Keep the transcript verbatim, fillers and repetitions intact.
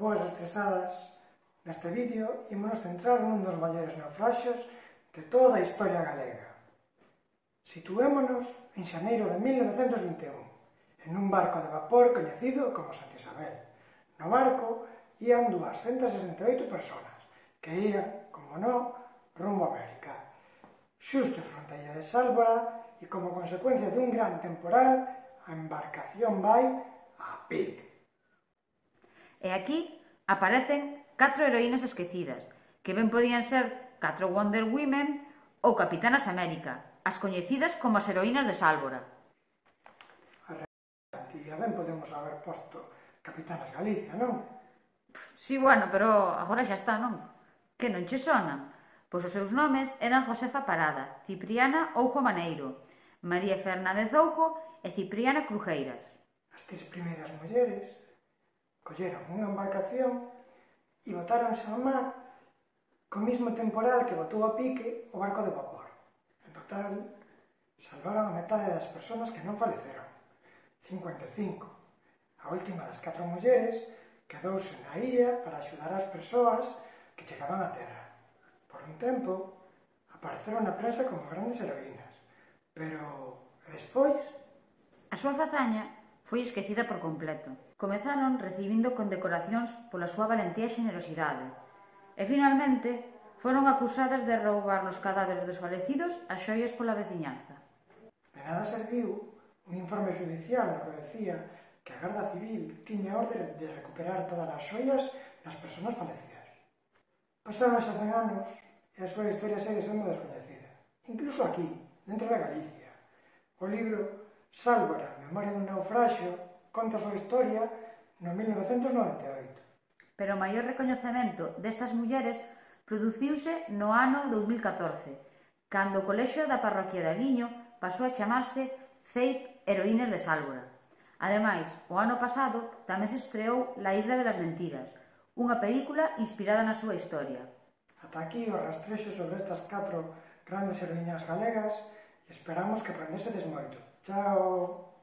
Boas estresadas, neste vídeo ímonos centrar nun dos maiores naufraxios de toda a historia galega. Situémonos en xaneiro de mil novecentos vinte e un, en un barco de vapor coñecido como Santa Isabel. No barco ían duascentas sesenta e oito persoas, que ían, como non, rumbo a América. Xusto fronte a illa de Sálvora, e como consecuencia dun gran temporal, a embarcación vai a pique. E aquí aparecen catro heroínas esquecidas, que ben podían ser catro Wonder Women ou Capitanas América, as coñecidas como as heroínas de Sálvora. A realidade, a ben podemos haber posto Capitanas Galicia, non? Si, bueno, pero agora xa está, non? Que non che sonan? Pois os seus nomes eran Josefa Parada, Cipriana Oujo Maneiro, María Fernández Oujo e Cipriana Crujeiras. As tres primeiras mulleres colleron unha embarcación e botáronse ao mar co mismo temporal que botou a pique o barco de vapor. En total, salvaron a metade das persoas que non faleceron, cincuenta e cinco. A última das catro mulleres quedouse na illa para axudar as persoas que chegaban á terra. Por un tempo, apareceron na prensa como grandes heroínas, pero despois... A súa fazaña foi esquecida por completo. Comezaron recibindo condecoracións pola súa valentía e xenerosidade, e finalmente foron acusadas de roubar nos cadáveres dos falecidos as xoias pola veciñanza. De nada serviu un informe judicial no que decía que a Garda Civil tiña orde de recuperar todas as xoias das persoas falecidas. Pasaron xa cen anos e a súa historia segue sendo descoñecida, incluso aquí, dentro de Galicia. O libro Sálvora, Memoria dun naufraxio, conta a súa historia no mil novecentos noventa e oito. Pero o maior recoñecemento destas mulleres produciuse no ano dous mil catorce, cando o colexio da parroquia de Aguiño pasou a chamarse C E I P Heroínas de Sálvora. Ademais, o ano pasado tamén se estreou La Isla de las Mentiras, unha película inspirada na súa historia. Ata aquí o rastrexo sobre estas catro grandes heroínas galegas e esperamos que aprendesedes moito. Chao!